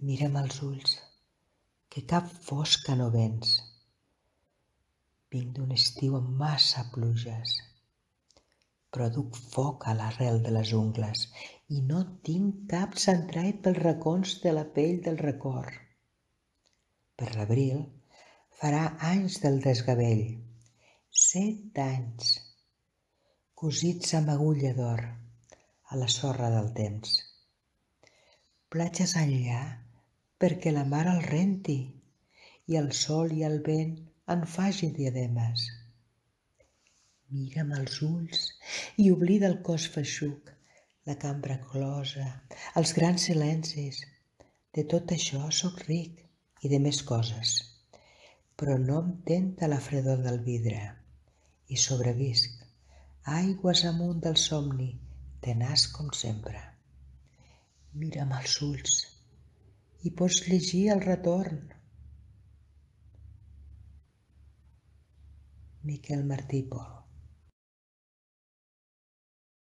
Mira'm als ulls, que cap fosca no vens. Vinc d'un estiu amb massa pluges, però duc foc a l'arrel de les ungles i no tinc cap centrat pels racons de la pell del record. Per l'abril farà anys del desgavell, 7 anys, cosits amb agulla d'or a la sorra del temps. Platges enllà perquè la mar el renti i el sol i el vent en facin diademes. Mira'm als ulls i oblida el cos feixuc, la cambra closa, els grans silencis. De tot això sóc ric i de més coses, però no em tenta la fredor del vidre i sobrevisc, aigües amunt del somni, tenaç com sempre. Mira'm als ulls i pots llegir el retorn. Miquel Martí i Pol.